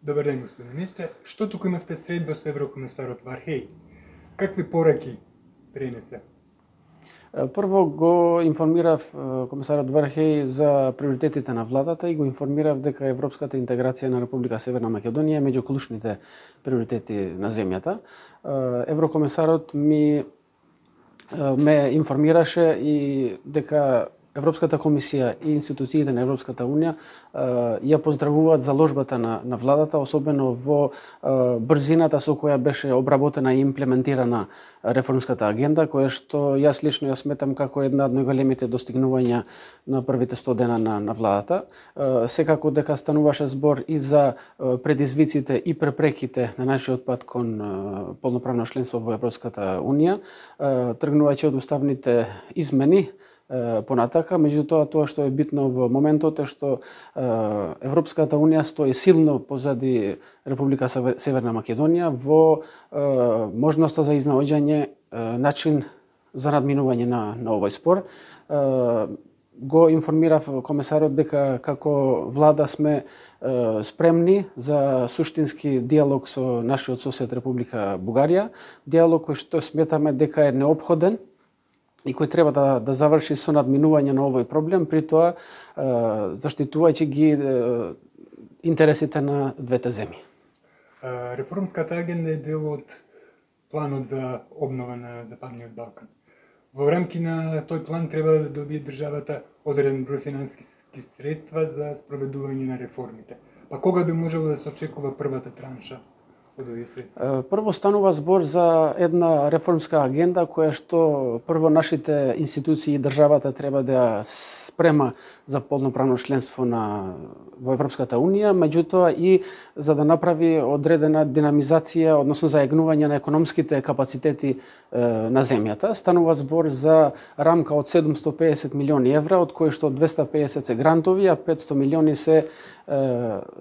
Добар ден, господин министре. Што туку имавте средба со еврокомисарот Вархеј? Какви пораки пренесе? Прво го информирав комисарот Вархеј за приоритетите на владата и го информирав дека европската интеграција на Република Северна Македонија е меѓу клучните приоритети на земјата. Еврокомисарот ме информираше и дека Европската комисија и институциите на Европската унија ја поздравуваат заложбата на владата, особено во брзината со која беше обработена и имплементирана реформската агенда, која што јас лично ја сметам како една од најголемите достигнувања на првите 100 дена на владата. Секако дека стануваше збор и за предизвиците и препреките на нашиот пат кон полноправно членство во Европската унија, тргнувајќи од уставните измени понатака, меѓутоа тоа што е битно во моментот е што Европската унија стои силно позади Република Северна Македонија во можноста за изнаоѓање начин за надминување на овој спор. Го информирав комисарот дека како влада сме спремни за суштински диалог со нашиот сосед Република Бугарија, диалог кој што сметаме дека е неопходен и кој треба да заврши со надминување на овој проблем, при тоа заштитувајќи ги интересите на двете земји. Реформската агенда е дел од планот за обнова на Западниот Балкан. Во рамки на тој план треба да добие државата одреден број финансиски средства за спроведување на реформите. Па кога би можело да се очекува првата транша? Прво станува збор за една реформска агенда која што прво нашите институции и државата треба да ја спрема за полноправно членство во Европската унија, меѓутоа и за да направи одредена динамизација, односно заегнување на економските капацитети на земјата. Станува збор за рамка од 750 милиони евра, од кои што 250 се грантови, а 500 милиони се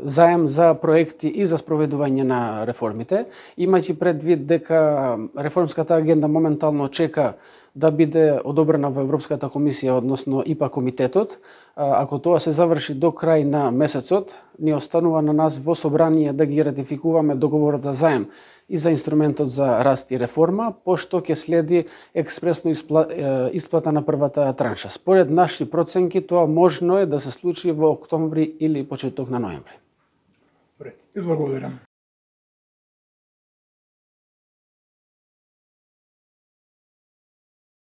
заем за проекти и за спроведување на реформите, имајќи предвид дека реформската агенда моментално чека да биде одобрена во Европската комисија, односно ИПА комитетот. Ако тоа се заврши до крај на месецот, ни останува на нас во собрание да ги ратификуваме договорот за заем и за инструментот за раст и реформа, пошто ќе следи експресно исплата на првата транша. Според наши проценки, тоа можно е да се случи во октомври или почеток на ноември. Благодарам.